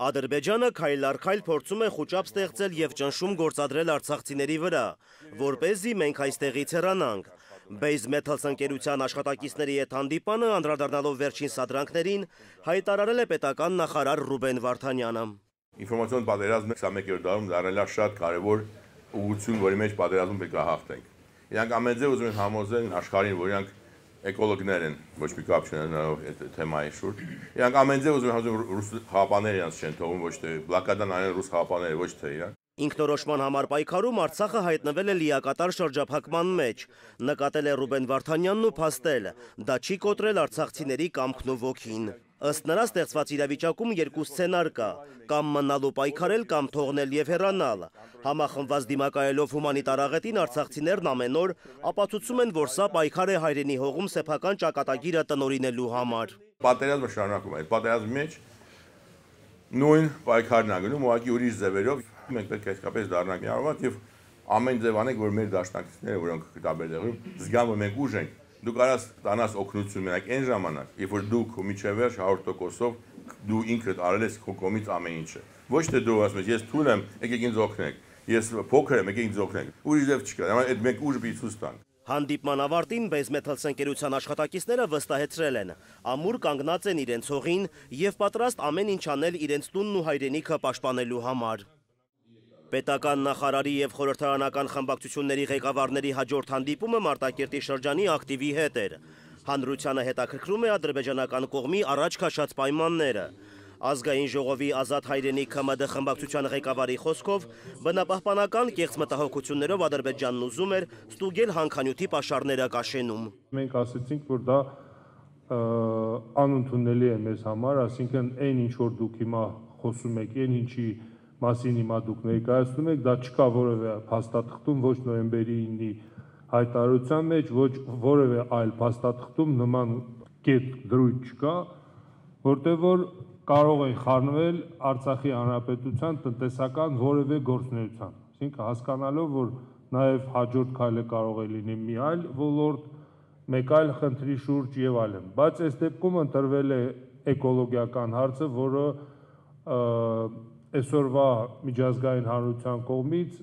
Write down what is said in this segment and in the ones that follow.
Ադրբեջանը քայլ առ քայլ փորձում է խուճապ ստեղծել եւ ճնշում գործադրել արցախցիների վրա, որպեսզի մենք այստեղից հեռանանք։ Base Metals ընկերության աշխատակիցների հետ հանդիպանը, անդրադառնալով վերջին սադրանքներին, հայտարարել է պետական նախարար Ռուբեն Վարդանյանը։ Ինֆորմացիոն պատերազմը 21-րդ դարում դառել է շատ կարևոր ուղղություն, որի մեջ պատերազմում պետք է հաղթենք։ Իրանք ամեն ձև ուզում են համոզել աշխարհին, որ իրանք էկոլոգներ են, ոչ մի կապ չունենալով այդ թեմայի շուրջ։ Իրանք ամեն ձև ուզում են համոզել ռուս խաղապաները իրանք չեն թողում, ոչ թե բլոկադան անեն ռուս խաղապաները, ոչ թե իրանք։ Ինքնորոշման համար պայքարում Արցախը հայտնվել է լիակատար շրջափակման մեջ, նկատել է Ռուբեն Վարդանյանն ու փաստել, դա չի կոտրել արցախցիների կամքն ու ոգին։ Ըստ նրա ստեղծված իրավիճակում երկու սցենար կա՝ կամ մնալու պայքարել, կամ թողնել եւ հեռանալ։ Համախմբված դիմակայելով հումանիտար աղետին արցախցիներն ամեն օր ապացուցում են, որ սա պայքար է հայրենի հողում սեփական ճակատագիրը տնօրինելու համար։ Պատերազմը շարունակում է, այդ պատերազմի մեջ նույն պայքարն է գնում, ուղղակի ուրիշ ձևերով մենք պետք է իսկապես դառնանք միավորված եւ ամեն ձև անենք, որ մեր դաշնակիցները, որոնք կտաբերդեղում, զգան, որ մենք ուժ ենք։ Դու կարաս տանաս օգնություն մենակ այն ժամանակ, երբ որ դու քո միջևեր 100%-ով դու ինքդ արել ես քո կողմից ամեն ինչը։ Ոչ թե դու ասում ես, ես թույլ եմ, եկեք ինձ օգնեք, ես փոքր եմ, եկեք ինձ օգնեք։ Ուրիշ ձև չկա, այդ մենք ուժ պիտի ցույց տանք։ Հանդիպման ավարտին Base Metals ընկերության աշխատակիցները վստահեցրել են, ամուր կանգնած են իրենց հողին եւ պատրաստ ամեն ինչ անել իրենց տունն ու հայրենիքը պաշտպանելու համար։ Պետական նախարարի եւ խորհրդարանական խմբակցությունների ղեկավարների հաջորդ հանդիպումը Մարտակերտի շրջանի ակտիվի հետ էր։ Հանրությանը հետաքրքրում է ադրբեջանական կողմի առաջ քաշած պայմանները։ Ազգային ժողովի Ազատ հայրենիք ՀՄԴ խմբակցության ղեկավարի խոսքով բնապահպանական կեղծ մտահոգություններով Ադրբեջանն ուզում էր ստուգել հանքանյութի պաշարները Կաշենում։ Մենք ասացինք, որ դա անընդունելի է մեզ համար, այսինքն այն ինչ որ դուք հիմա խոսում եք, այն ինչի մասին հիմա դուք ներկայացնում եք, դա չկա որևէ փաստաթղթում, ոչ նոյեմբերի 9-ի հայտարարության մեջ, ոչ որևէ այլ փաստաթղթում նման կետ դրույթ չկա, որտեղ որ կարող են խառնվել Արցախի հանրապետության տնտեսական որևէ գործունեության, այսինքն հասկանալով, որ նաև հաջորդ քայլը կարող է լինի մի այլ ոլորտ, մեկ այլ խնդրի շուրջ եւ այլն, բայց այս դեպքում ընտրվել է էկոլոգիական հարցը, որը այսօրվա միջազգային հանրության կողմից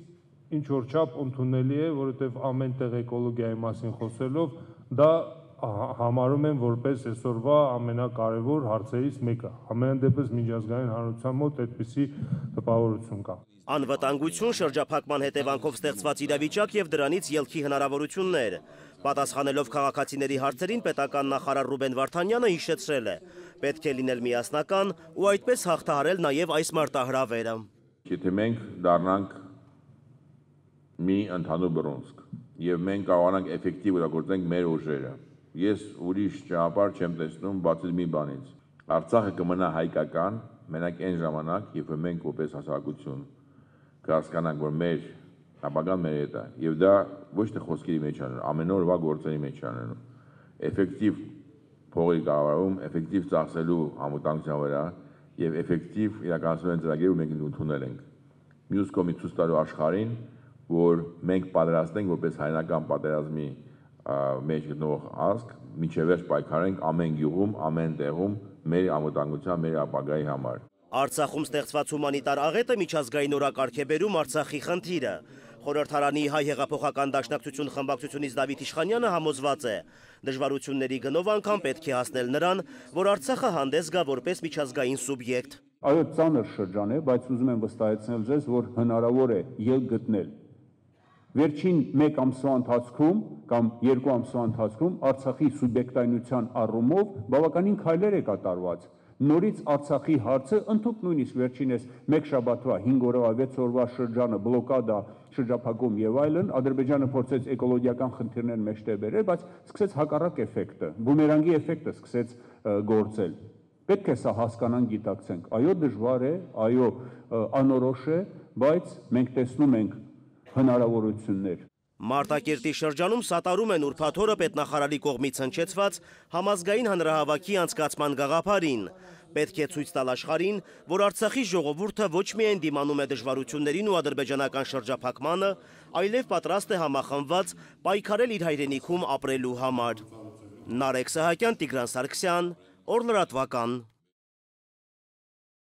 ինչ որ չափ ընդունելի է, որովհետև ամեն տեղ էկոլոգիայի մասին խոսելով դա համարում են որպես այսօրվա ամենակարևոր հարցերից մեկը։ Ամեն դեպս միջազգային հանրության մոտ այդպիսի տպավորություն կա։ Անվտանգություն, շրջափակման հետևանքով ստեղծված իրավիճակ եւ դրանից ելքի հնարավորություններ։ Պատասխանելով քաղաքացիների հարցերին պետական նախարար Ռուբեն Վարդանյանը հիշեցրել է. պետք է լինել միասնական ու այդպես հաղթահարել նաեւ այս մարտահրավերը։ Եթե մենք դառնանք մի ընդհանուր բռունցք եւ մենք կարողանանք էֆեկտիվ իրագործենք մեր ուժերը, ես ուրիշ ճանապարհ չեմ տեսնում բացի մի բանից։ Արցախը կմնա հայկական մենակ այն ժամանակ, երբ մենք որպես հասարակություն կհասկանանք, որ մեր ապագան մեր հետ է, եւ դա ոչ թե խոսքերի մեջ անեն, ամեն օրվա գործերի մեջ անեն։ Էֆեկտիվ փողի կառավարում, էֆեկտիվ ծախսելու անվտանգության վրա եւ էֆեկտիվ իրականացնելու ծրագիրը մենք ընդունել ենք։ Մյուս կողմից ցույց տալու աշխարհին, որ մենք պատրաստ ենք որպես հայնական պատերազմի մեջ գտնող ազգ, միջևերջ պայքարենք ամեն գյուղում, ամեն տեղում մեր անվտանգության, մեր ապագայի համար։ Արցախում ստեղծված հումանիտար աղետը միջազգային օրակարգ է բերում Արցախի խնդիրը։ Խորհրդարանի հայ հեղափոխական դաշնակցություն խմբակցությունից Դավիթ Իշխանյանը համոզված է, դժվարությունների գնով անգամ պետք է հասնել նրան, որ Արցախը հանդես գա որպես միջազգային սուբյեկտ։ Այո, ծանր շրջան է, բայց ուզում եմ վստահեցնել ձեզ, որ հնարավոր է ելք գտնել։ Վերջին 1 ամսվա ընթացքում կամ 2 ամսվա ընթացքում Արցախի սուբյեկտայնության առումով բավականին քայլեր է կատարված։ Նորից Արցախի հարցը ընդհանուր նույնիսկ վերջինս 1 շաբաթվա 5 օրվա 6 օրվա շրջանը բլոկադա, շրջափակում եւ այլն, Ադրբեջանը փորձեց էկոլոգիական խնդիրներ մեջտեղ բերել, բայց սկսեց հակառակ էֆեկտը, բումերանգի էֆեկտը սկսեց գործել։ Պետք է սա հասկանանք, գիտակցենք։ Այո, դժվար է, այո, անորոշ է, բայց մենք տեսնում ենք հնարավորություններ։ Մարտակերտի շրջանում սատարում են ուրբաթ օրը պետնախարարի կողմից հնչեցված համազգային հանրահավաքի անցկացման գաղափարին։ Պետք է ցույց տալ աշխարհին, որ Արցախի ժողովուրդը ոչ միայն դիմանում է դժվարություններին ու ադրբեջանական շրջափակմանը, այլև պատրաստ է համախմբված պայքարել իր հայրենիքում ապրելու համար։ Նարեկ Սահակյան, Տիգրան Սարգսյան, Օր լրատվական։